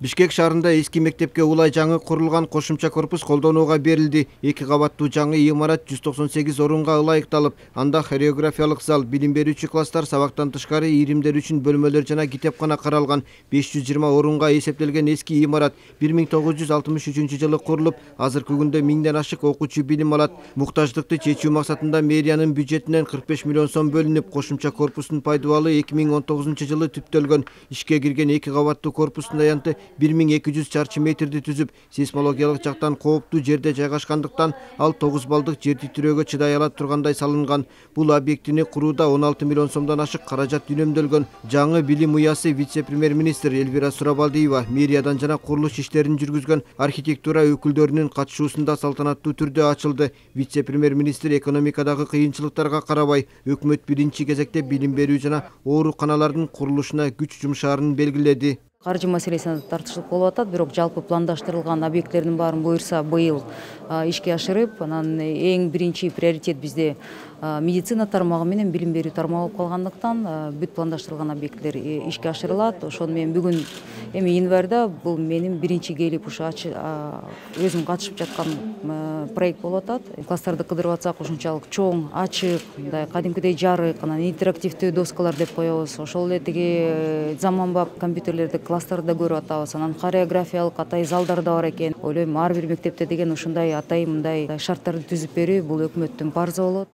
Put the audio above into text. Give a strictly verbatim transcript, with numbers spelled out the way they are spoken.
Бишкек шаарында эски мектепке улай жаңы курулган кошумча корпус колдонууга берилди. Эки кабаттуу жаңы имарат жүз токсон сегиз орунга ылайыкталып, анда хореографиялык зал, билим берүүчү класстар, сабактан тышкары иримдер үчүн бөлмөлөр жана китепкана каралган. беш жүз жыйырма орунга эсептелген эски имарат бир миң тогуз жүз алтымыш үчүнчү жылы курулуп, азыркы күндө миңден ашык окуучу билим алат. Муктаждыкты чечүү максатында мэриянын бюджетинен кырк беш миллион сом бөлүнүп, кошумча корпустун пайдубалы эки миң он тогузунчу жылы түптөлгөн. Ишке кирген эки кабаттуу корпустун аянты бир миң эки жүз чарчы метрди түзүп, сейсмологиялык жактан кооптуу жерде жайгашкандыктан ал тогуз балдык жер титирөөгө чыдай ала тургандай салынган. Бул объектини курууда он алты миллион сомдон ашык каражат үнөмдөлгөн. Жаңы билим уясы вице-премьер-министр Элвира Сурабалдиева мэриядан жана курулуш иштерин жүргүзгөн архитектура өкүлдөрүнүн катышуусунда салтанаттуу түрдө ачылды. Вице-премьер-министр экономикадагы кыйынчылыктарга карабай, өкмөт биринчи кезекте билим берүү жана ооруканалардын курулушуна күч жумшаарын белгиледи. Каржы маселесине тартыштык болуп атат, бирок жалпы пландаштырылган объекттердин баарын буюрса быйыл ишке ашырып, анан эң биринчи приоритет бизде медицина тармагы менен билим берүү тармагы болуп калгандыктан бүт пландаштырылган объекттер ишке ашырылат. Ошону мен бүгүн эми январда бул менин биринчи келип ушу өзүм катышып жаткан проект болуп атат. Класстарды кыдырып атсак ушунчалык чоң, ачык, мындай кадимкидей жарык, анан интерактивдүү доскалар деп коебуз. Ошол эле тиги заманбап компьютерлерди класстарда көрүп атабыз. Анан хореографиялык атай залдар да бар экен. Ойлойм, ар бир мектепте деген ушундай атай мындай шарттарды түзүп берүү бул өкмөттүн парзы болот.